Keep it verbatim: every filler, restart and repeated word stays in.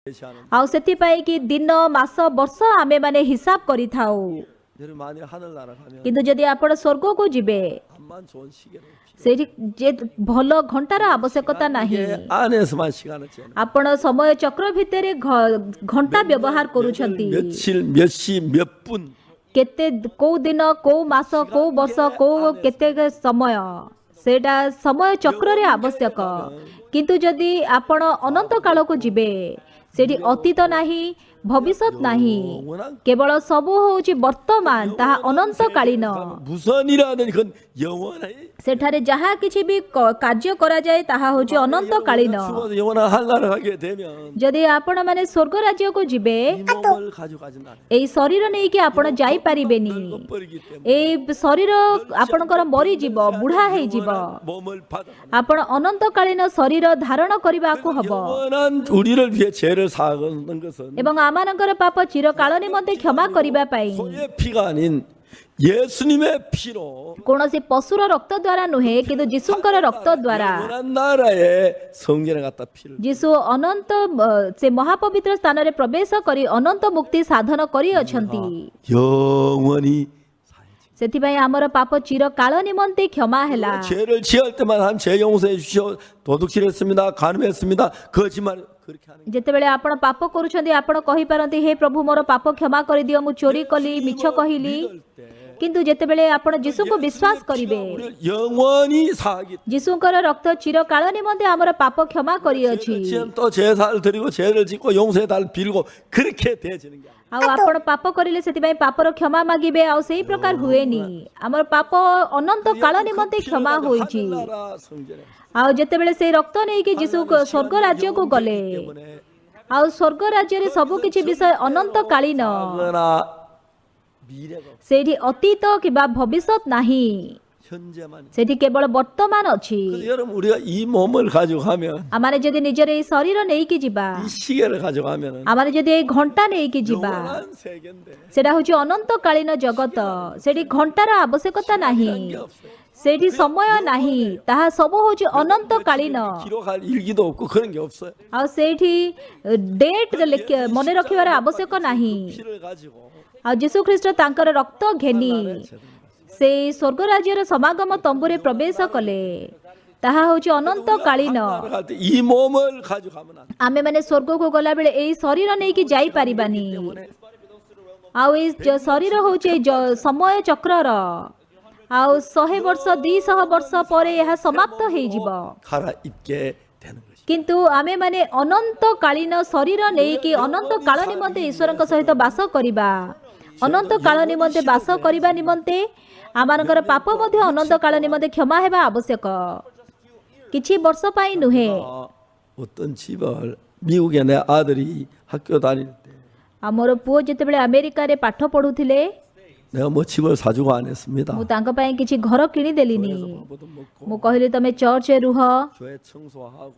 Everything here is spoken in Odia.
제시하는 ଆଉ ସେଥିପାଇଁ କି ଦିନ, ମାସ, ବର୍ଷ ଆମେମାନେ ହିସାବ କରିଥାଉ। 여러분, 만일 하늘나라 가면 କିନ୍ତୁ ଯଦି ଆପଣ ସ୍ୱର୍ଗକୁ ଯିବେ, 암만 좋은 시계는 필요 ସେଇଠି ଯେ ଭଲ ଘଣ୍ଟାର ଆବଶ୍ୟକତା ନାହିଁ। 이게 안에서만 시간을 재는 ଆପଣ ସମୟ ଚକ୍ର ଭିତରେ ଘ- ଘଣ୍ଟା ବ୍ୟବହାର କରୁଛନ୍ତି। 며칠, 몇 시, 몇 분 କେତେ, କୋଉ ଦିନ, କୋଉ ମାସ, କୋଉ ବର୍ଷ, କୋଉ କେତେ ସମୟ, ସେଇଟା ସମୟ ଚକ୍ରରେ ଆବଶ୍ୟକ। କିନ୍ତୁ ଯଦି ଆପଣ ଅନନ୍ତ କାଳକୁ ଯିବେ, ସେଠି ଅତୀତ ନାହିଁ, ଭବିଷ୍ୟତ ନାହିଁ, କେବଳ ସବୁ ହଉଛି ବର୍ତ୍ତମାନ। ତାହା ଅନନ୍ତକାଳୀନ। 무선이라는 그건 영원히 ସେଠାରେ ଯାହା କିଛି ବି କ- କାର୍ଯ୍ୟ କରାଯାଏ, ତାହା ହେଉଛି ଅନନ୍ତକାଳୀନ। 죽어서 영원한 하늘나라 가게 되면 ଯଦି ଆପଣମାନେ ସ୍ୱର୍ଗ ରାଜ୍ୟକୁ ଯିବେ, 이 몸을 가져가진 않아요. ଏଇ ଶରୀର ନେଇକି ଆପଣ ଯାଇପାରିବେନି। 늙어버리기 때문에 ଏଇ ଶରୀର ଆପଣଙ୍କର ମରିଯିବ, ବୁଢା ହେଇଯିବ। 영원한 몸을 받아 ଆପଣ ଅନନ୍ତକାଳୀନ ଶରୀର ଧାରଣ କରିବାକୁ ହବ। 영원한 우리를 위해 죄를 사하는 것은 ଏବଂ ଆମମାନଙ୍କର ପାପ ଚିରକାଳ ନିମନ୍ତେ କ୍ଷମା କରିବା ପାଇଁ 소의 피가 아닌 예수님의 피로 କୌଣସି ପଶୁର ରକ୍ତ ଦ୍ୱାରା ନୁହେଁ, କିନ୍ତୁ ଯୀଶୁଙ୍କର ରକ୍ତ ଦ୍ୱାରା। 영원한 나라의 성전에 갖다 피를 ଯୀଶୁ ଅନନ୍ତ ଅ, ସେ ମହାପବିତ୍ର ସ୍ଥାନରେ ପ୍ରବେଶ କରି ଅନନ୍ତ ମୁକ୍ତି ସାଧନ କରିଅଛନ୍ତି। 영원히 사해지. ସେଥିପାଇଁ ଆମର ପାପ ଚିରକାଳ ନିମନ୍ତେ କ୍ଷମା ହେଲା। 죄를 지을 때만 한 죄 용서해 주시오. 도둑질했습니다. 간음했습니다. 거짓말 그렇게 하는 ଯେତେବେଳେ ଆପଣ ପାପ କରୁଛନ୍ତି, ଆପଣ କହିପାରନ୍ତି, ହେ ପ୍ରଭୁ, ମୋର ପାପ କ୍ଷମା କରିଦିଅ, ମୁଁ ଚୋରି କଲି, ମିଛ କହିଲି। 믿을 때 କିନ୍ତୁ ଯେତେବେଳେ ଆପଣ ଯୀଶୁଙ୍କୁ ବିଶ୍ୱାସ କରିବେ, 우리를 영원히 사하기 ଯୀଶୁଙ୍କର ରକ୍ତ ଚିରକାଳ ନିମନ୍ତେ ଆମର ପାପ କ୍ଷମା କରିଅଛି। 죄를 지으면 또 제사를 드리고 죄를 짓고 용서해 달 빌고 그렇게 되어지는 게 아니에요. ଆଉ ଆପଣ ପାପ କରିଲେ ସେଥିପାଇଁ ପାପର କ୍ଷମା ମାଗିବେ, ଆଉ ସେଇ ପ୍ରକାର ହୁଏନି। ଆମର ପାପ ଅନନ୍ତ କାଳ ନିମନ୍ତେ କ୍ଷମା ହୋଇଛି। 하늘나라 성전에 ଆଉ ଯେତେବେଳେ ସେଇ ରକ୍ତ ନେଇକି ଯୀଶୁ ସ୍ୱର୍ଗ ରାଜ୍ୟକୁ ଗଲେ, 때문에 ଆଉ ସ୍ୱର୍ଗ ରାଜ୍ୟରେ ସବୁ କିଛି ବିଷୟ ଅନନ୍ତକାଳୀନ। 과거나 미래가 없어요. ସେଇଠି ଅତୀତ କିମ୍ବା ଭବିଷ୍ୟତ ନାହିଁ। 현재만 있어요. ସେଠି କେବଳ ବର୍ତ୍ତମାନ ଅଛି। 그래서 여러분, 우리가 이 몸을 가지고 가면 ଆମମାନେ ଯଦି ନିଜର ଏଇ ଶରୀର ନେଇକି ଯିବା, 이 시계를 가져가면은 ଆମମାନେ ଯଦି ଏଇ ଘଣ୍ଟା ନେଇକି ଯିବା, 영원한 세계인데 ସେଟା ହଉଛି ଅନନ୍ତକାଳୀନ ଜଗତ। ସେଠି ଘଣ୍ଟାର ଆବଶ୍ୟକତା ନାହିଁ। 게 없어요. ସେଇଠି ସମୟ ନାହିଁ। ତାହା ସବୁ ହଉଛି ଅନନ୍ତକାଳୀନ। 기록할 일기도 없고 그런 게 없어요. ଆଉ ସେଇଠି ଡେଟ୍ ମନେ ରଖିବାର ଆବଶ୍ୟକ ନାହିଁ। 피를 가지고 ଆଉ ଯୀଶୁ ଖ୍ରୀଷ୍ଟ ତାଙ୍କର ରକ୍ତ ଘେନି ସେଇ ସ୍ୱର୍ଗ ରାଜ୍ୟର ସମାଗମ ତମ୍ବୁରେ ପ୍ରବେଶ କଲେ। ତାହା ହଉଛି ଅନନ୍ତକାଳୀନ। 갈 때 이 몸을 가져가면 안 돼. ଆମେମାନେ ସ୍ୱର୍ଗକୁ ଗଲାବେଳେ ଏଇ ଶରୀର ନେଇକି ଯାଇପାରିବାନି। ଆଉ ଏଇ ଜ- ଶରୀର ହଉଛି ଏଇ ଜ- ସମୟ ଚକ୍ରର। ଆଉ ଶହେ ବର୍ଷ, ଦୁଇଶହ ବର୍ଷ ପରେ ଏହା ସମାପ୍ତ ହେଇଯିବ। 갈아입게 되는 것이. କିନ୍ତୁ ଆମେମାନେ ଅନନ୍ତକାଳୀନ ଶରୀର ନେଇକି ଅନନ୍ତ କାଳ ନିମନ୍ତେ ଈଶ୍ୱରଙ୍କ ସହିତ ବାସ କରିବା। ଅନନ୍ତ କାଳ ନିମନ୍ତେ ବାସ କରିବା ନିମନ୍ତେ ଆମମାନଙ୍କର ପାପ ମଧ୍ୟ ଅନନ୍ତ କାଳ ନିମନ୍ତେ କ୍ଷମା ହେବା ଆବଶ୍ୟକ, କିଛି ବର୍ଷ ପାଇଁ ନୁହେଁ। 어, 어떤 집을 미국에 내 아들이 학교 다닐 때 ଆଉ ମୋର ପୁଅ ଯେତେବେଳେ ଆମେରିକାରେ ପାଠ ପଢୁଥିଲେ, 내가 뭐 집을 사주고 안 했습니다. ମୁଁ ତାଙ୍କ ପାଇଁ କିଛି ଘର କିଣିଦେଲିନି। 밥도 먹고 ମୁଁ କହିଲି, ତମେ ଚର୍ଚ୍ଚରେ ରୁହ। 교회 청소하고